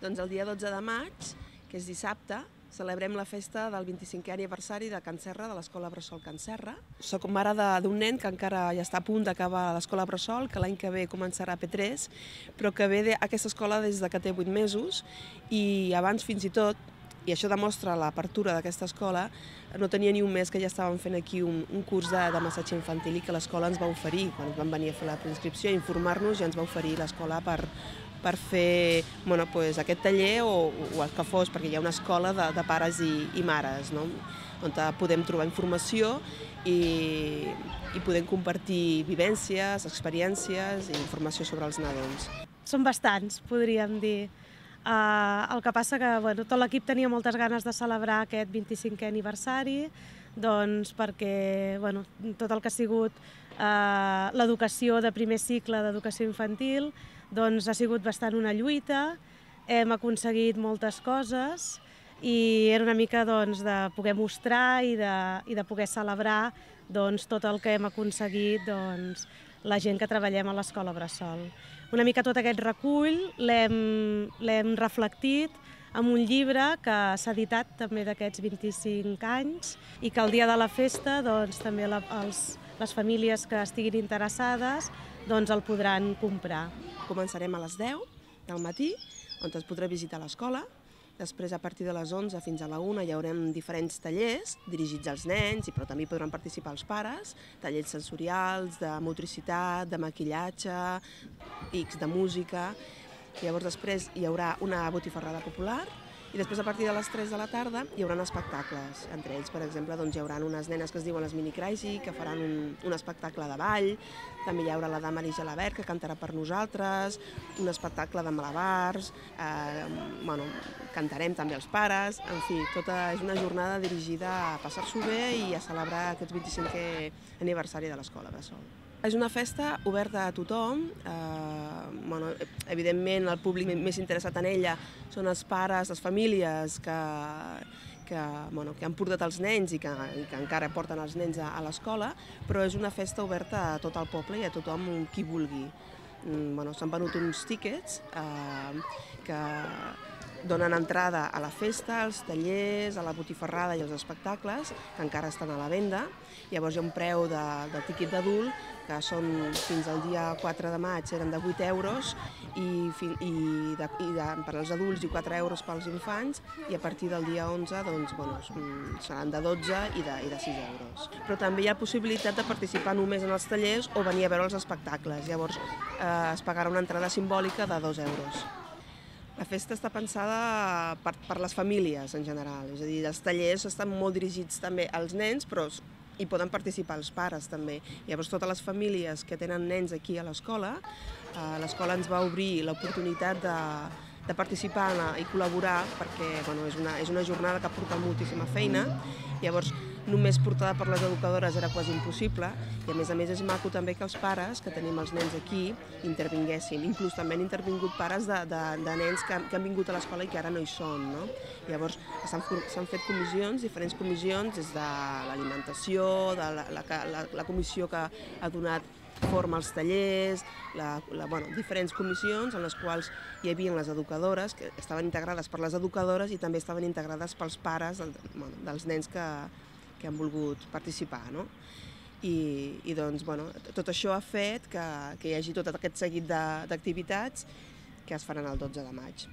Doncs el dia 12 de maig, que és dissabte, celebrem la festa del 25è aniversari de Can Serra, de l'Escola Bressol Can Serra. Soc mare d'un nen que encara ja està a punt d'acabar l'Escola Bressol, que l'any que ve començarà P3, però que ve a aquesta escola des que té 8 mesos i abans fins i tot, i això demostra l'apertura d'aquesta escola, no tenia ni un mes que ja estàvem fent aquí un curs de massatge infantil i que l'escola ens va oferir, quan vam venir a fer la preinscripció, a informar-nos, ja ens va oferir l'escola per fer aquest taller o el que fos, perquè hi ha una escola de pares i mares, on podem trobar informació i podem compartir vivències, experiències i informació sobre els nadons. Són bastants, podríem dir. El que passa que tot l'equip tenia moltes ganes de celebrar aquest 25è aniversari, perquè tot el que ha sigut l'educació de primer cicle d'educació infantil ha sigut bastant una lluita, hem aconseguit moltes coses i era una mica de poder mostrar i de poder celebrar tot el que hem aconseguit la gent que treballem a l'Escola Bressol. Una mica tot aquest recull l'hem reflectit en un llibre que s'ha editat també d'aquests 25 anys i que el dia de la festa també les famílies que estiguin interessades el podran comprar. Començarem a les 10 del matí, on es podrà visitar l'escola. Després, a partir de les 11 fins a la 1, hi haurem diferents tallers dirigits als nens, però també hi podran participar els pares, tallers sensorials, de motricitat, de maquillatge, de música. Llavors després hi haurà una botifarrada popular i després a partir de les 3 de la tarda hi haurà espectacles. Entre ells, per exemple, hi haurà unes nenes que es diuen les Mini Crazy, que faran un espectacle de ball. També hi haurà la Dama Maria Gelabert, que cantarà per nosaltres, un espectacle de malabars, cantarem també els pares, en fi, és una jornada dirigida a passar-s'ho bé i a celebrar aquest 25è aniversari de l'Escola Bressol. És una festa oberta a tothom, evidentment el públic més interessat en ella són els pares, les famílies que han portat els nens i que encara porten els nens a l'escola, però és una festa oberta a tot el poble i a tothom qui vulgui. S'han venut uns tíquets que donen entrada a la festa, als tallers, a la botifarrada i als espectacles, que encara estan a la venda. Llavors hi ha un preu de tíquet d'adult, que són fins al dia 4 de maig eren de 8 euros, i per als adults i 4 euros pels infants, i a partir del dia 11 seran de 12 i de 6 euros. Però també hi ha possibilitat de participar només en els tallers o venir a veure els espectacles. Llavors es pagarà una entrada simbòlica de 2 euros. La festa està pensada per les famílies en general, és a dir, els tallers estan molt dirigits també als nens, però hi poden participar els pares també. Llavors totes les famílies que tenen nens aquí a l'escola ens va obrir l'oportunitat de participar i col·laborar perquè és una jornada que porta moltíssima feina. Llavors només portada per les educadores era quasi impossible i a més és maco també que els pares que tenim els nens aquí intervinguessin. Inclús també han intervingut pares de nens que han vingut a l'escola i que ara no hi són. Llavors s'han fet diferents comissions, des de l'alimentació, de la comissió que ha donat forma als tallers, diferents comissions en les quals hi havia les educadores, que estaven integrades per les educadores i també estaven integrades pels pares dels nens que han volgut participar. I tot això ha fet que hi hagi tot aquest seguit d'activitats que es faran el 12 de maig.